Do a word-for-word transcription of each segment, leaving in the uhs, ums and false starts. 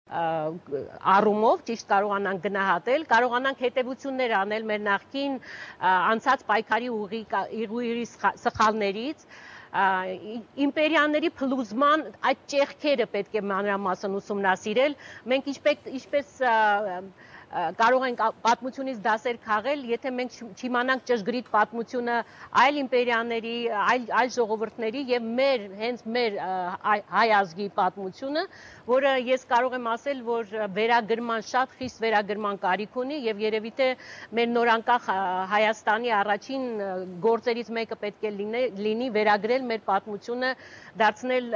առումով ճիշտ կարողանանք գնահատել, կարողանանք հետևություններ անել մեր նախկին անցած պայքարի ուղիղի սխալներից, իմպերիաների փլուզման այդ ճեղքերը պետք է մանրամասն ուսումնասիրել, մենք ինչպես կարող ենք պատմությունից դասեր քաղել, եթե մենք չիմանանք ճշգրիտ պատմությունը այլ իմպերիաների, այլ ժողովուրդների եւ մեր հենց մեր հայ ազգի պատմությունը, որը ես կարող եմ ասել, որ վերագրման շատ խիստ վերագրման կարիք ունի եւ երևի թե մեր նորանկախ Հայաստանի առաջին գործերից մեկը պետք է լինի վերագրել մեր պատմությունը, դարձնել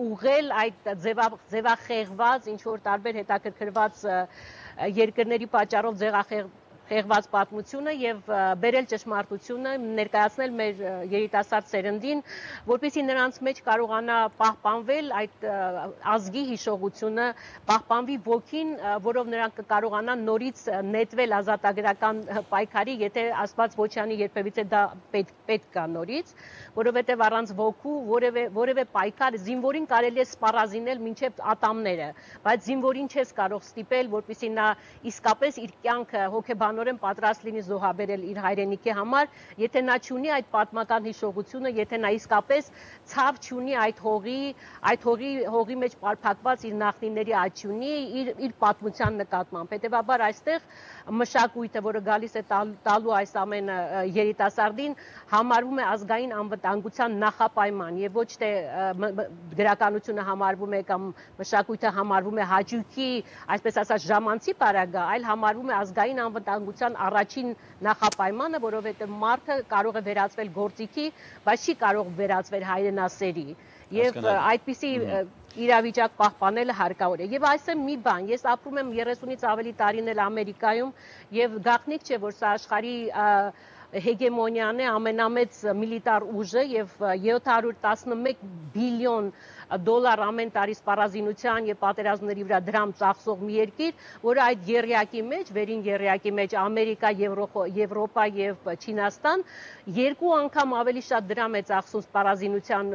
ուղղել այդ ձևախեղված, ինչ որ տարբեր հետաքրքրված երկրների պատճառով ձևախեղված պատմությունը եւ բերել ճշմարտությունը, ներկայացնել մեր երիտասարդ սերնդին, որպեսզի նրանց մեջ կարողանա պահպանվել այդ ազգի հիշողությունը, պահպանվի ոգին, որով նրանք կարողանան նորից նետվել ազատագրական պայքարի, եթե Աստված ոչ անի երբևիցե դա պետք կա նորից, որովհետեւ առանց ոգու որևէ պայքար զինվորին կարելի է սպառազինել մինչև ատամները, բայց զինվորին չես կարող ստիպել, որպեսզի նա իսկապես իր կյանքը հոգեբանորեն պատրաստ լինի զոհաբերել իր հայրենիքի համար, եթե նա չունի այդ պատմական հիշողությունը, եթե նա իսկապես ցավ չունի այդ հողի, այդ հողի հողի մեջ պարփակված իր նախնիների աճ չունի իր իր պատմության նկատմամբ։ Հետևաբար այստեղ մշակույթը, որը գալիս է տալու այս ամենը երիտասարդին, համարվում է ազգային անվտանգության նախապայման եւ ոչ թե գրականությունը համարվում է կամ մշակույթը համարվում է հաճույքի, այսպես ասած, ժամանցի պարագա, այլ համարվում է ազգային անվտանգության առաջին նախապայմանը, որովհետեւ մարդը կարող է վերածվել գործիքի, բայց չի կարող վերածվել հայրենասերի։ Եվ այդպիսի իրավիճակ պահպանելը հարկավոր է։ Եվ այսօր մի բան, ես ապրում եմ երեսունից ավելի տարիներ Ամերիկայում եւ գաղտնիք չէ, որ սա աշխարհի հեգեմոնիան է, ամենամեծ միլիտար ուժը եւ յոթ հարյուր տասնմեկ բիլիոն դոլար ամեն տարի սպառազինության եւ պատերազմների վրա դրամ ծախսող մի երկիր, որը այդ եռյակի մեջ, վերին եռյակի մեջ Ամերիկա, Եվրոպա եւ Չինաստան երկու անգամ ավելի շատ դրամ է ծախսում սպառազինության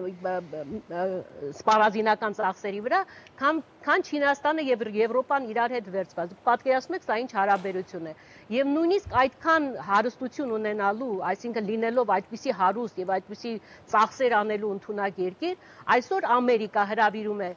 սպառազինական ծախսերի վրա, քան Չինաստանը եւ Եվրոպան իրար հետ վերցված։ Պատկերացնեք, սա ինչ հարաբերություն է։ Եվ նույնիսկ այդքան հարստություն ունենալու, այսինքն լինելով այդպիսի հարուստ եւ այդպիսի ծախսեր անելու ընդունակ երկիր, այսօր Ամերիկա հրավիրում է,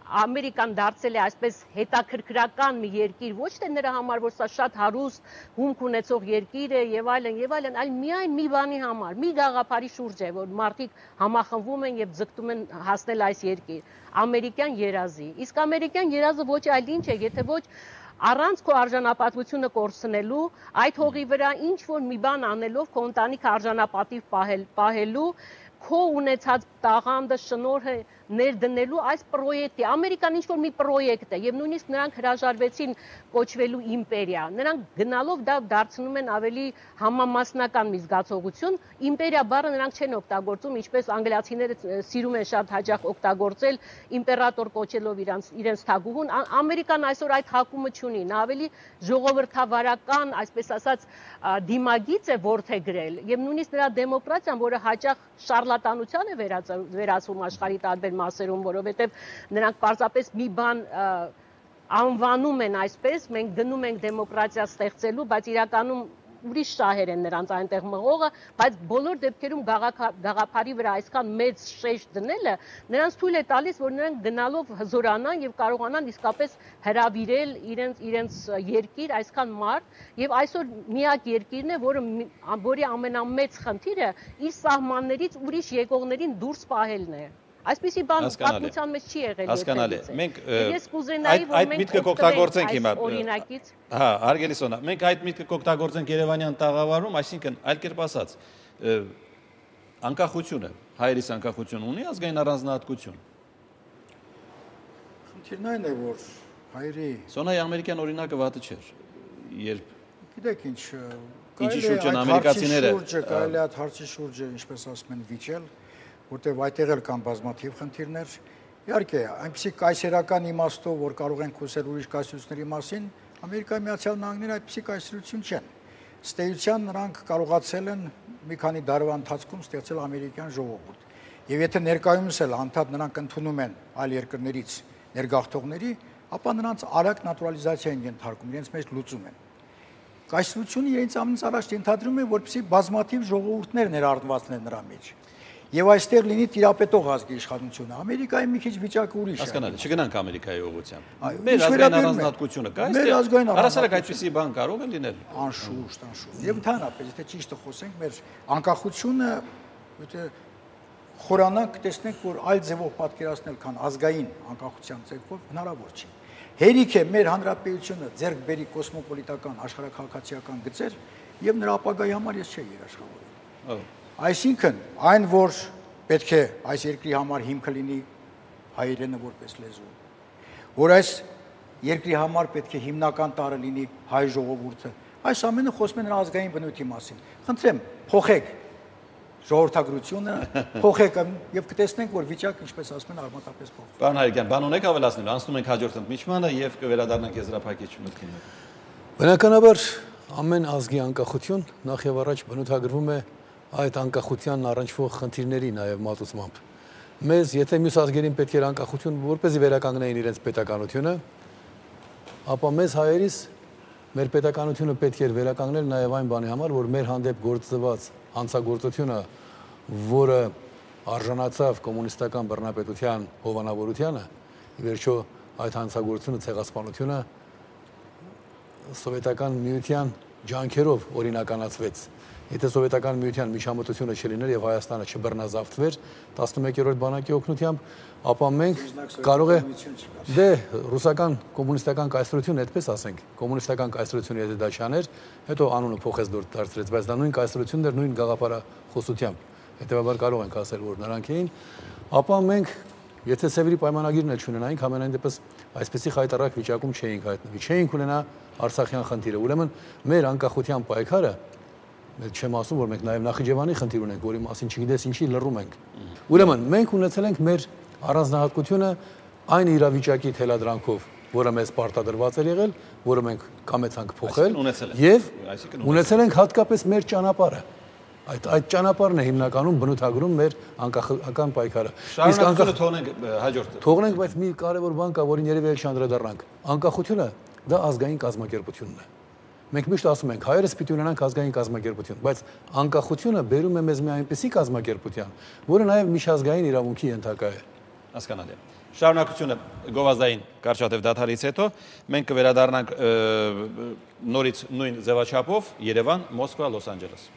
Ամերիկան դարձել է այսպես հետաքրքրական մի երկիր, ոչ թե նրա համար, որ սա շատ հարուստ հումք ունեցող երկիր է եւ այլն եւ այլն, այլ միայն մի բանի համար, մի գաղափարի շուրջ է, որ մարդիկ համախմբվում են եւ ձգտում են հասնել այս երկիր, ամերիկյան երազի։ Իսկ ամերիկյան երազը ոչ այլ ինչ է, եթե ոչ առանց քո արժանապատվությունը կորցնելու, այդ հողի վրա ինչ որ մի բան անելով քո ընտանիքը արժանապատիվ պահելու, քո ունեցած տաղանդը, շնորհը ներդնելու այս պրոյեկտի, Ամերիկան ինչ-որ մի պրոյեկտ է, եւ նույնիսկ նրանք հրաժարվեցին կոչվելու իմպերիա, նրանք գնալով դա դարձնում են ավելի համամասնական մի զգացողություն, իմպերիա բառը նրանք չեն օգտագործում, ինչպես անգլիացիները սիրում են շատ հաճախ օգտագործել իմպերատոր կոչելով իրենց իրենց թագուհուն, Ամերիկան այսօր այդ հակումը չունի, նա ավելի ժողովրդավարական, այսպես ասած, դիմագիծ է որդեգրել, եւ նույնիսկ նրա դեմոկրատիան, որը հաճախ շարլատանության է վերածվում աշխարհի տարբեր մասերում, որովհետև նրանք պարզապես մի բան անվանում են այսպես, մենք գնում ենք դեմոկրատիա ստեղծելու, բայց իրականում ուրիշ շահեր են նրանց այնտեղ մղողը, բայց բոլոր դեպքերում գաղափարի վրա այսքան մեծ շեշտ դնելը նրանց թույլ է տալիս, որ նրանք գնալով հզորանան եւ կարողանան իսկապես հրավիրել իրենց իրենց երկիր, այսքան մարդ, եւ այսօր միակ երկիրն է, որը որի ամենամեծ խնդիրը իր սահմաններից ուրիշ եկողներին դուրս պահելն է։ Այսպիսի բան պատմության մեջ չի եղել։ Հասկանալի։ Մենք ես կուզենայի, որ այդ միտքը կօգտագործենք հիմա։ Օրինակից։ Հա, հարգելի Սոնա, մենք այդ միտքը կօգտագործենք Երևանյան տաղավարում, այսինքն այլ կերպ ասած, անկախությունը, հայերիս անկախություն ունի ազգային առանձնահատկություն։ Խնդիրն այն է, որ հայերի Սոնայի ամերիկյան օրինակը վատը չէր։ Երբ գիտեք ինչ, ինչի շուրջ են ամերիկացիները, կարելի է այդ հարցի շուրջը, ինչպես ասում են, վիճել, որտեղ այդտեղ էլ կան բազմաթիվ խնդիրներ։ Իհարկե, այնպիսի կայսերական իմաստով, որ կարող են խոսել ուրիշ կայսրությունների մասին, Ամերիկայի Միացյալ Նահանգները այդպիսի կայսրություն չեն։ Ստեյության նրանք կարողացել են մի քանի դարվա ընթացքում ստեղծել ամերիկյան ժողովուրդ։ Եվ եթե ներկայումս էլ անդադ նրանք ընդունում են այլ երկրներից ներգաղթողների, ապա նրանց արագ նատուրալիզացիա են ենթարկում, իրենց մեջ լուծում են։ Կայսրությունը իրենց ամենից առաջ ենթադրում է, որպեսզի բազմաթիվ ժողովուրդներ ներառնված լինեն նրա մեջ։ Եվ այստեղ լինի տիրապետող ազգի իշխանությունը։ Ամերիկայի մի քիչ վիճակը ուրիշ է։ Հասկանալի, չգնանք Ամերիկայի ուղղությամբ։ Մեր ազգային առանձնահատկությունը կա, այստեղ առասարակ այդպիսի բան կարող է լինել։ Անշուշտ, անշուշտ։ Եվ ընդհանրապես, եթե ճիշտը խոսենք, մեր անկախությունը, եթե խորանանք, տեսնենք, որ այլ ձևով պատկերացնել, քան ազգային անկախության ձևով հնարավոր չի։ Հերիք է մեր հանրապետությունը ձեռք բերի կոսմոպոլիտական աշխարհաքաղաքացիական գծեր եւ նրա ապագայի համար ես չէի երաշխավորում։ Այսինքն, այն որ պետք է այս երկրի համար հիմքը լինի հայերենը որպես լեզու, որ այս երկրի համար պետք է հիմնական տարը լինի հայ ժողովուրդը, այս ամենը խոսում է նրա ազգային բնույթի մասին։ Խնդրեմ, փոխեք ժողովրդագրությունը, փոխեք եւ կտեսնենք, որ վիճակը, ինչպես ասում են, արմատապես փոխվում։ Պարոն Հայրիկյան, բան ունեք ավելացնելու, անցնում ենք հաջորդ ընդմիջմանը եւ կվերադառնանք եզրափակիչ մտքին։ Բնականաբար ամեն ազգի անկախություն նախ եւ առաջ բնութագրվում է այդ անկախությանն առնչվող խնդիրների նաեւ մատուցմամբ։ Մեզ, եթե մյուս ազգերին պետք էր անկախություն, որպեսզի վերականգնեին իրենց պետականությունը, ապա մեզ հայերիս մեր պետականությունը պետք էր վերականգնել նաեւ այն բանի համար, որ մեր հանդեպ գործված հանցագործությունը, որը արժանացավ կոմունիստական բռնապետության հովանավորությանը, ի վերջո այդ հանցագործությունը, ցեղասպանությունը սովետական միության ջանքերով օրինականացվեց։ Եթե սովետական միության միջամտությունը չլիներ եւ Հայաստանը չբռնազավթվեր տասնմեկերորդ բանակի օգնությամբ, ապա մենք կարող է դե ռուսական կոմունիստական կայսրությունը, այդպես ասենք, կոմունիստական կայսրությունը եթե դա չաներ, հետո անունը փոխեց դուրս դարձրեց, բայց դա նույն կայսրությունն էր, նույն գաղափարախոսությամբ։ Հետևաբար կարող ենք ասել, որ նրանք էին, ապա մենք եթե Սևերի պայմանագիրն էլ չունենայինք, ամենայն դեպս այսպեսի խայտառակ վիճակում չէինք հայտնվի, չէինք ունենա Արցախյան խնդիրը։ Ուրեմն մեր անկախության պայքարը, չեմ ասում, որ մենք նաև Նախիջևանի խնդիր ունենք, որի մասին չգիտես ինչի լռում ենք։ Ուրեմն մենք ունեցել ենք մեր առանձնահատկությունը այն իրավիճակի թելադրանքով, որը մեզ պարտադրված էր եղել, որը մենք կամեցանք փոխել, եւ ունեցել ենք հատկապես մեր ճանապարհը։ Այդ այդ ճանապարհն է հիմնականում բնութագրում մեր անկախական պայքարը։ Իսկ անկախությունը թողնենք հաջորդը։ Թողնենք, բայց մի կարևոր բան կա, որին երևի էլ չանդրադառնանք։ Անկախությունը դա ազգային կազմակերպությունն է։ Մենք միշտ ասում ենք, հայերս պիտի ունենանք ազգային կազմակերպություն, բայց անկախությունը բերում է մեզ մի այնպիսի կազմակերպության, որը նաև միջազգային իրավունքի ենթակա է։ Հասկանալի է։ Շարունակությունը գովազդային կարճատև դադարից հետո մենք կվերադառնանք նորից նույն ձևաչափով Երևան, Մոսկվա, Լոս Անջելես։